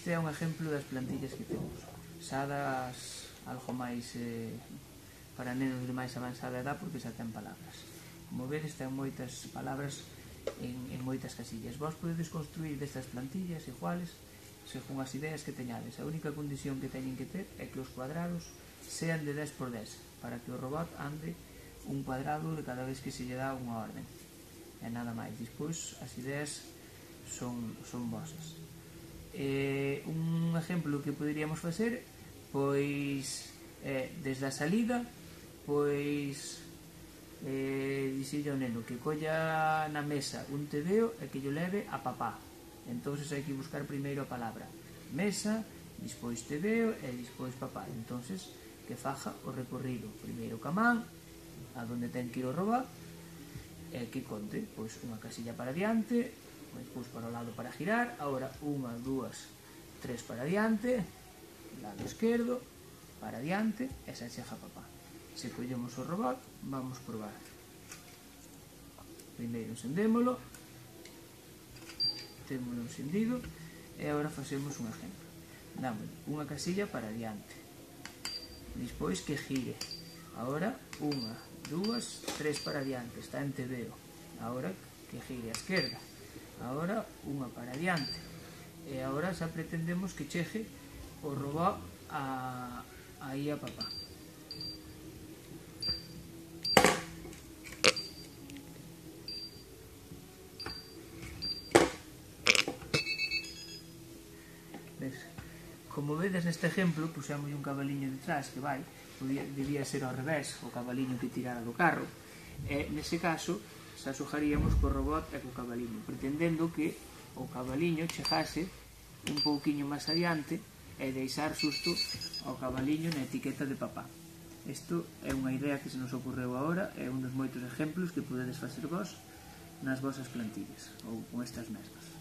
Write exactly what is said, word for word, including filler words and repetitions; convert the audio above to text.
Este é un exemplo das plantillas que temos, xa das algo máis eh, para nenos de máis avanzada edad, porque xa ten palabras. Como vedes, ten moitas palabras en, en moitas casillas. Vos podedes construir destas plantillas iguales según as ideas que teñades. A única condición que teñen que ter é que os cuadrados sean de dez por dez, para que o robot ande un cuadrado de cada vez que se lle dá unha orden. E nada máis. Despois, as ideas son, son vosas. Eh, un exemplo que poderíamos facer, pois eh, desde a salida, pois eh, dixille ao neno que colla na mesa un tedeo e que yo leve a papá. Entón hai que buscar primeiro a palabra mesa, despois tedeo e despois papá. Entón que faja o recorrido primeiro ca man a donde ten que ir o robot e que conte pois unha casilla para diante, despois para o lado para girar, agora unha, dúas, tres para diante, lado esquerdo, para diante, e xa chega papá. Se collemos o robot, vamos probar. Primeiro encendémolo, témolo encendido, e agora facemos un exemplo. Damos unha casilla para diante, despois que gire, agora unha, dúas, tres para diante, está en tedeo, agora que gire a esquerda, agora unha para diante, e agora xa pretendemos que chegue o robot a, aí a papá. Ves? Como vedes neste exemplo, pusemos un cabaliño detrás que vai, debía ser ao revés, o cabaliño que tirara do carro, e nese caso xa xogaríamos co robot e co cabaliño, pretendendo que o cabaliño chegase un pouquiño máis adiante e deixar xusto ao cabaliño na etiqueta de papá. Isto é unha idea que se nos ocorreu agora, é un dos moitos exemplos que podedes facer vos nas vosas plantillas, ou con estas mesmas.